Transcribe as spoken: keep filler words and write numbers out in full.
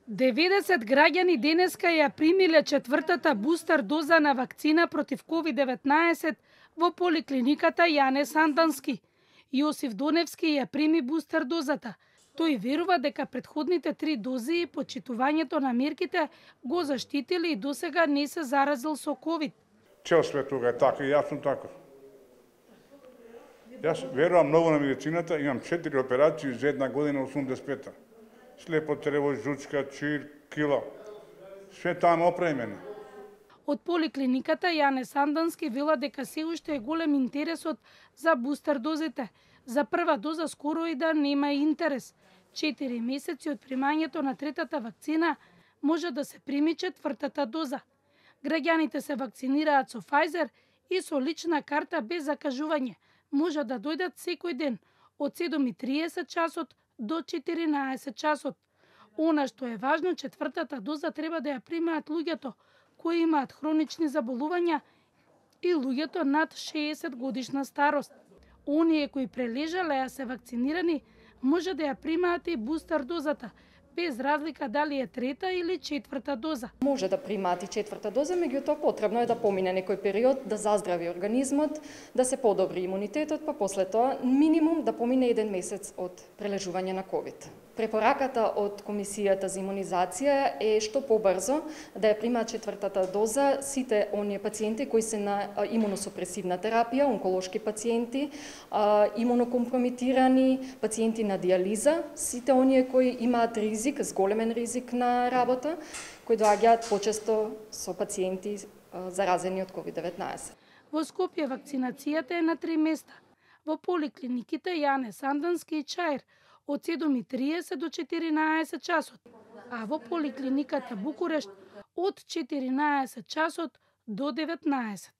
деветдесет граѓани денеска ја примиле четвртата бустер доза на вакцина против ковид деветнаесет во поликлиниката Јане Сандански. Јосиф Доневски ја прими бустер дозата. Тој верува дека претходните три дози и почитувањето на мерките го заштитили и досега не се заразил со ковид. Цел свет тога е така и јас сум таков. Јас верувам многу на медицината, имам четири операции за една година осумдесет и пета. Слепо црево, жучка, чир, кила. Све таму опремено. Од поликлиниката Јане Сандански вела дека се уште е голем интересот за бустер дозите. За прва доза скоро и да нема интерес. Четири месеци од примањето на третата вакцина може да се прими четвртата доза. Граѓаните се вакцинираат со Pfizer и со лична карта без закажување. Може да дојдат секој ден од седум и триесет часот до четиринаесет часот. Она што е важно, четвртата доза треба да ја примаат луѓето кои имаат хронични заболувања и луѓето над шеесет годишна старост. Оние кои прележале а се вакцинирани може да ја примаат и бустер дозата, без разлика дали е трета или четврта доза. Може да примаат и четврта доза, меѓутоа потребно е да помине некој период, да заздрави организмот, да се подобри имунитетот, па после тоа минимум да помине еден месец од прележување на ковид. Препораката од Комисијата за имунизација е што побрзо да ја примаат четвртата доза сите оние пациенти кои се на имуносупресивна терапија, онколошки пациенти, имунокомпромитирани, пациенти на диализа, сите оние кои имаат ризик, зголемен ризик на работа, кои доаѓаат почесто со пациенти заразени од ковид деветнаесет. Во Скопје вакцинацијата е на три места. Во поликлиниките Јане Сандански и Чаир од седум и триесет до четиринаесет часот, а во поликлиниката Букурешт од четиринаесет часот до деветнаесет.